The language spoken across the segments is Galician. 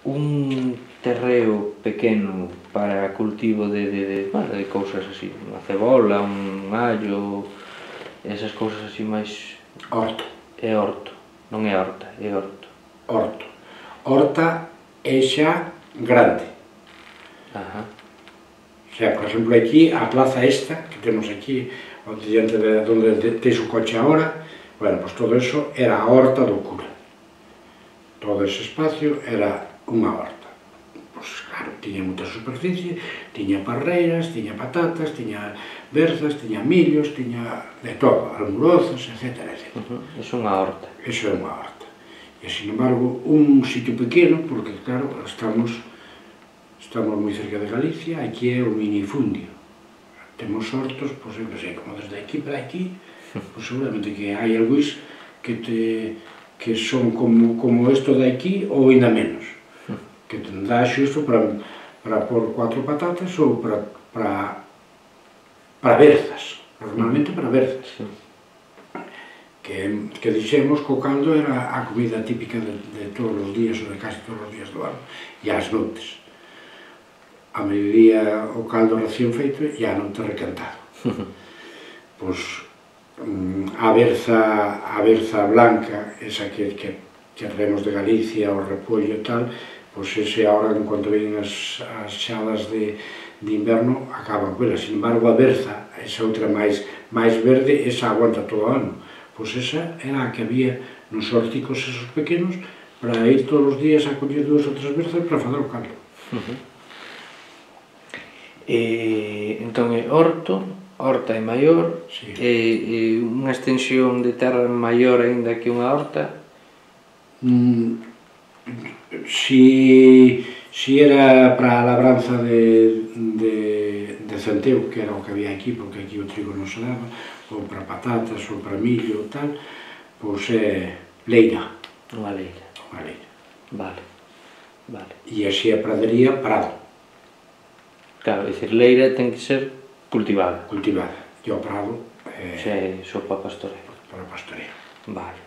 un terreo pequeno para cultivo de cousas así, unha cebola, un allo, esas cousas así máis... Horto. É horto, non é horta, é horto. Horto. Horta é xa grande. Ajá. O sea, por exemplo, aquí, a plaza esta, que temos aquí, diante de onde tens o coche agora, bueno, pues todo eso era a horta do cura. Todo ese espacio era unha horta. Pois, claro, tiña moita superficie, tiña parreiras, tiña patatas, tiña berzas, tiña millos, tiña de todo, almorozos, etc. Iso é unha horta. Iso é unha horta. E, sin embargo, un sitio pequeno, porque, claro, estamos moi cerca de Galicia, aquí é o minifundio. Temos hortos, pois, eu que sei, como desde aquí para aquí, pois seguramente que hai algúis que son como isto de aquí ou ainda menos, que te dá xusto para pôr 4 patatas ou para berzas, normalmente para berzas, que dixemos que o caldo era a comida típica de todos os días ou de casi todos os días do ano, e ás noites. A mediodía o caldo recién feito e a noite recantado. Pois a berza blanca, esa que traemos de Galicia, o repollo e tal, pois ese ahora, en cuanto ven as xadas de inverno, acaban con ela. Sin embargo, a berza, esa outra máis verde, esa aguanta todo o ano. Pois esa era a que había nos hórticos esos pequenos para ir todos os días a coller 2 ou 3 berzas para fazer o caldo. Entón é horto, horta é maior, e unha extensión de terra maior aínda que unha horta? Si era para a labranza de centeo, que era o que había aquí, porque aquí o trigo non se daba, ou para patatas, ou para millo, tal, pois é leira. Unha leira. Unha leira. Vale. E así a pradería, prado. Claro, é dicir, leira ten que ser cultivada. Cultivada. E o prado é só para pastoreo. Para pastoreo. Vale.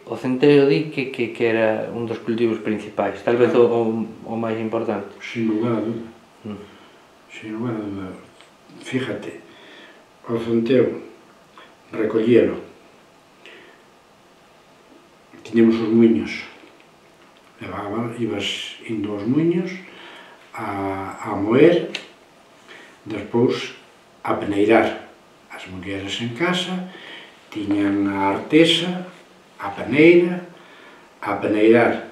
O centeo di que era un dos cultivos principais, tal vez o máis importante. Sin lugar a dúda. Sin lugar a dúda. Fíjate, o centeo, recollelo. Tiñemos os muiños. Ibas indo aos muiños a moer, despois a peneirar. As mulleres en casa tiñan a artesa, a peneira, a peneirar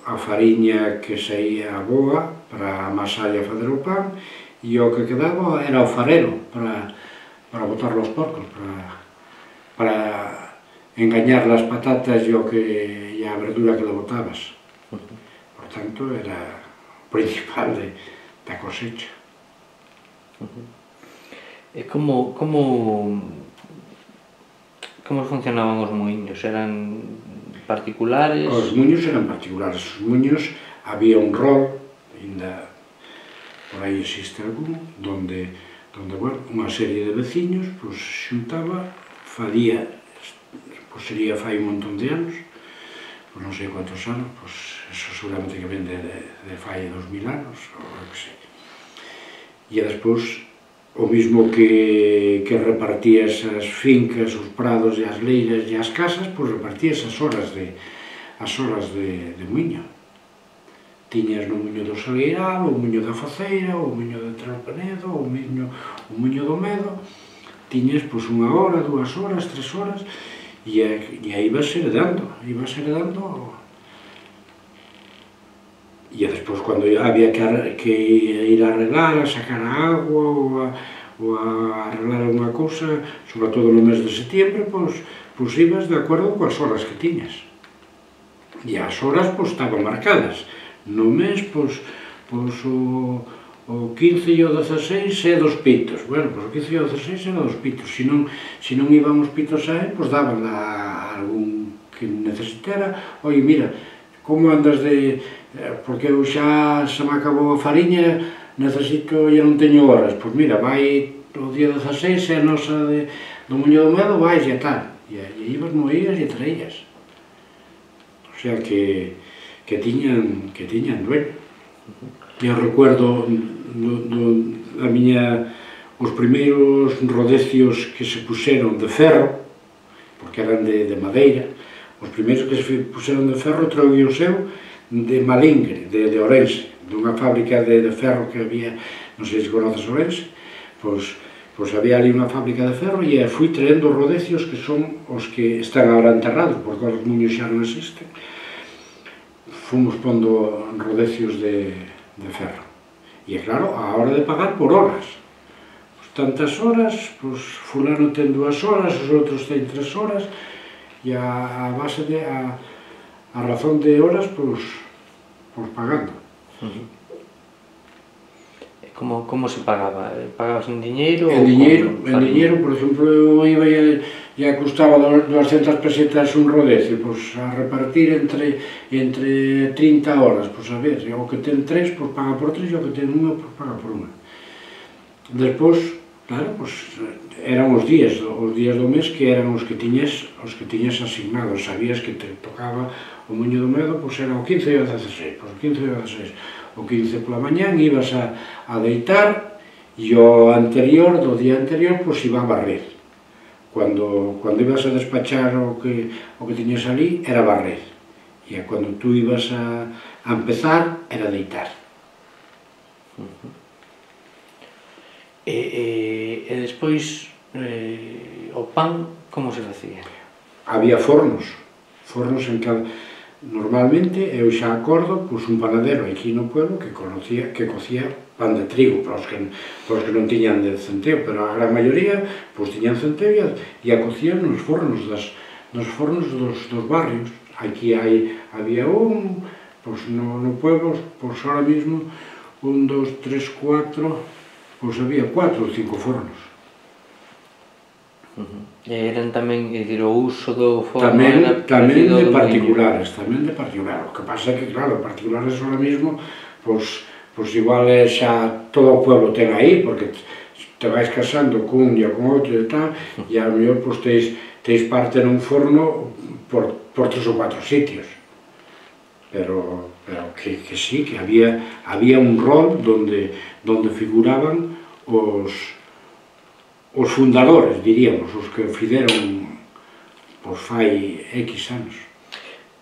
a fariña que saía boa para amasar e fazer o pan, e o que quedaba era o farelo para botarlo aos porcos, para engañar as patatas e a verdura que le botabas. Por tanto, era principal da cosecha. E como funcionaban os muiños? Eran particulares? Os muiños eran particulares. Os muiños había un rol, ainda por aí existe algún, donde unha serie de veciños xuntaba, sería fai un montón de anos, non sei quantos anos, eso seguramente que ven de fai 2000 anos, ou que sei. E despois, o mismo que repartías as fincas, os prados e as leiras e as casas, pois repartías as horas de muiño. Tiñas no muiño do Salgueiral, o muiño da Faceira, o muiño de Tralpenedo, o muiño do Medo, tiñas pois 1 hora, 2 horas, 3 horas, e aí ibas heredando, e despois cando había que ir a arreglar, a sacar a agua ou a arreglar unha cousa, sobre todo no mes de setembro, pois ibas de acordo coas horas que tiñas, e as horas estaban marcadas. No mes, o 15 e o 16 é dos pitos. Bueno, o 15 e o 16 era dos pitos. Se non iban os pitos a él, daban a algún que necesitara. Oi, mira, como andas de... Porque eu xa se me acabou a fariña, necesito, e non teño horas. Pois mira, vai o día 16, é a nosa do Muño do Medo, vais e tal. E ibas, moías e traías. o sea que tiñan dueño. Eu recuerdo os primeiros rodecios que se puxeron de ferro, porque eran de madeira, os primeiros que se puxeron de ferro trouxe o seu de Malingre, de Ourense, dunha fábrica de ferro que había, non sei se conoces Ourense, pois había ali unha fábrica de ferro e fui traendo rodecios que son os que están agora enterrados, porque os muños xa non existen. Fomos pondo rodecios de ferro. E claro, a hora de pagar por horas. Tantas horas, pois fulano ten 2 horas, os outros ten 3 horas, e a base de, a razón de horas, pois pagando. Como se pagaba? Pagabas en diñeiro? En diñeiro, por exemplo, eu iba e custaba 200 pesetas un rodecio, pois a repartir entre 30 horas, pois a ver, o que ten 3, pois paga por 3, e o que ten 1, pois paga por 1. Despois, claro, pois eran os días do mes que eran os que tiñes asignados, sabías que te tocaba o moño do medo, pois era o 15 e o 16, pois o 15 e o 16. O 15 pola mañán ibas a deitar e o anterior, do día anterior, pois iba a barrer. Cando ibas a despachar o que tiñas ali, era barrer. E cando tú ibas a empezar, era deitar. E despois, o pan, como se facía? Había fornos en cada... Normalmente, eu xa acordo, pois un panadero aquí no pueblo que cocía pan de trigo, para os que non tiñan de centeo, pero a gran maioría pois tiñan centeo e a cocían nos fornos dos barrios. Aquí había pois no pueblo, pois ahora mismo, 1, 2, 3, 4, pois había 4 ou 5 fornos. E eran tamén, o uso do forno tamén de particulares, o que pasa é que, claro, particulares ahora mismo, pois igual xa todo o pueblo ten aí, porque te vais casando cun e con outro e tal, e a mellor pois teis parte nun forno por 3 ou 4 sitios. Pero que sí, que había un rol donde figuraban os fundadores, diríamos, os que fizeron pois fai X anos.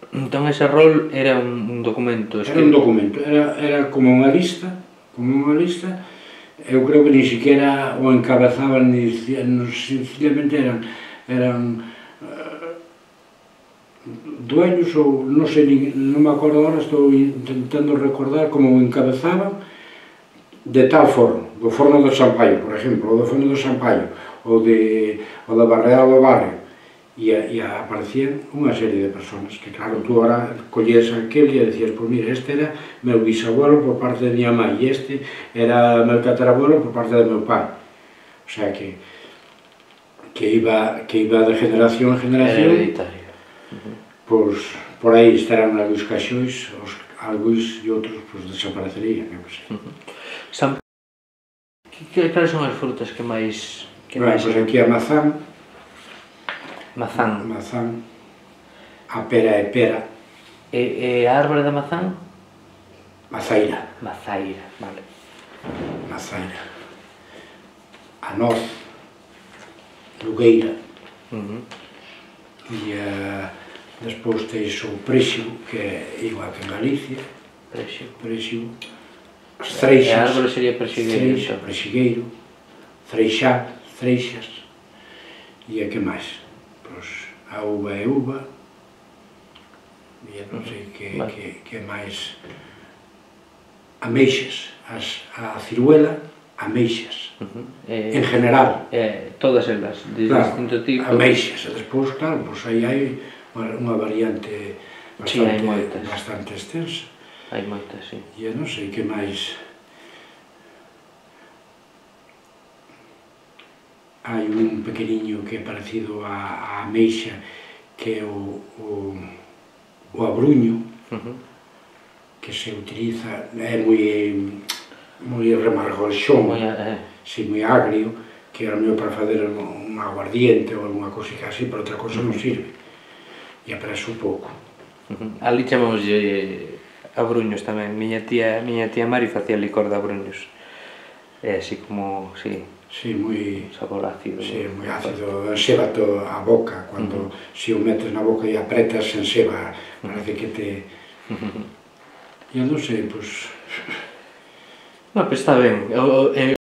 Entón ese rol era un documento? Era un documento, era como unha lista, eu creo que ni siquiera o encabezaban, sencillamente eran dueños ou non sei, non me acordo agora, estou intentando recordar como o encabezaban de tal forno, do forno do Sampaio, por exemplo, ou do forno do Sampaio, ou da Barreal do Barrio, e aparecían unha serie de personas que, claro, tú ahora collías aquel e decías, pois mira, este era meu bisabuelo por parte de miña mãe, e este era meu tatarabuelo por parte de meu pai. O sea que iba de generación en generación. Hereditario. Pois por aí estarán algúns caixóns, algúns e outros desaparecerían, eu que sei. Cales son as frutas que máis... Pois aquí a mazán, Mazán. a pera é pera. E a árbore da mazán? Mazaira. Mazaira, vale. Mazaira. A noz, lugueira. E despois teis o préxigo, que é igual que en Galicia. Préxigo. As freixas. E a árbore sería prexigueiro. Prexigueiro. Freixas. E a que máis? Pois a uva é uva. E non sei que máis. Ameixas. A ciruela, ameixas. En general. Todas elas, de distinto tipo. Ameixas. E despois, claro, aí hai unha variante bastante extensa. Hai moitas, sí. E non sei que máis. Hai un pequeniño que é parecido á ameixa, que é o abruño, que se utiliza, é moi remargolxón, moi agrio, que era mellor para fazer un aguardiente ou alguna cousa así, pero outra cousa non sirve. E apreso pouco. Ali chamámoslle abruños tamén. Miña tía Mari facía licor de abruños. É así como, sí, Sí, moi... sabor ácido. Sí, moi ácido, ensébate a boca, cando se o metes na boca e apretas, enseba, parece que te... E non sei, pois... No, pois está ben.